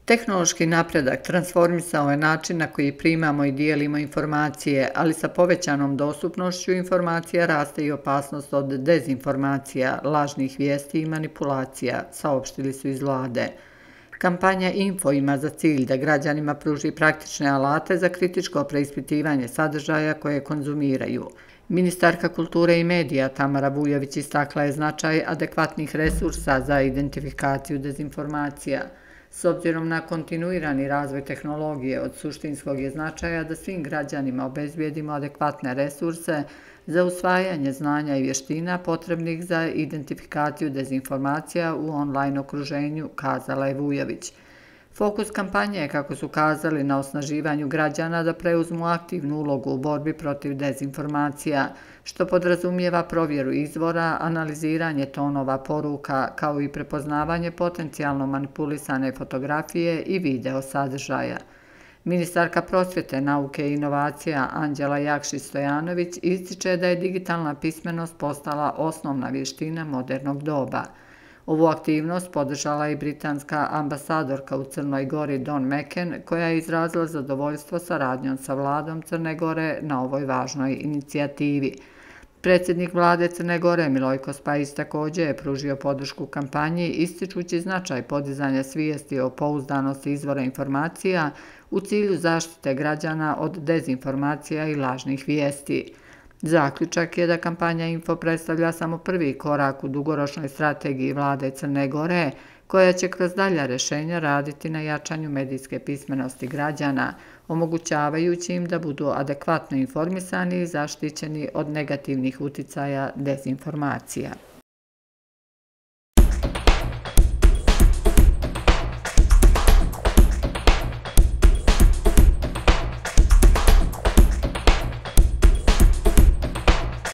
Tehnološki napredak transformisao je način na koji primamo i dijelimo informacije, ali sa povećanom dostupnošću informacija raste i opasnost od dezinformacija, lažnih vijesti i manipulacija, saopštili su iz vlade. Kampanja Info ima za cilj da građanima pruži praktične alate za kritičko preispitivanje sadržaja koje konzumiraju. Ministarka kulture i medija Tamara Vujović istakla je značaj adekvatnih resursa za identifikaciju dezinformacija. S obzirom na kontinuirani razvoj tehnologije, od suštinskog je značaja da svim građanima obezbijedimo adekvatne resurse za usvajanje znanja i vještina potrebnih za identifikaciju dezinformacija u online okruženju, kazala je Vujović. Fokus kampanje je, kako su kazali, na osnaživanju građana da preuzmu aktivnu ulogu u borbi protiv dezinformacija, što podrazumijeva provjeru izvora, analiziranje tonova poruka, kao i prepoznavanje potencijalno manipulisane fotografije i video sadržaja. Ministarka prosvjete, nauke i inovacija Anđela Jakšić-Stojanović ističe da je digitalna pismenost postala osnovna vještina modernog doba. Ovu aktivnost podržala je i britanska ambasadorka u Crnoj Gori Dawn McCann, koja je izrazila zadovoljstvo saradnjom sa vladom Crne Gore na ovoj važnoj inicijativi. Predsjednik vlade Crne Gore Milojko Spajić također je pružio podršku kampanji, ističući značaj podizanja svijesti o pouzdanosti izvora informacija u cilju zaštite građana od dezinformacija i lažnih vijesti. Zaključak je da kampanja Info predstavlja samo prvi korak u dugoročnoj strategiji vlade Crne Gore, koja će kroz dalja rješenja raditi na jačanju medijske pismenosti građana, omogućavajući im da budu adekvatno informisani i zaštićeni od negativnih uticaja dezinformacija.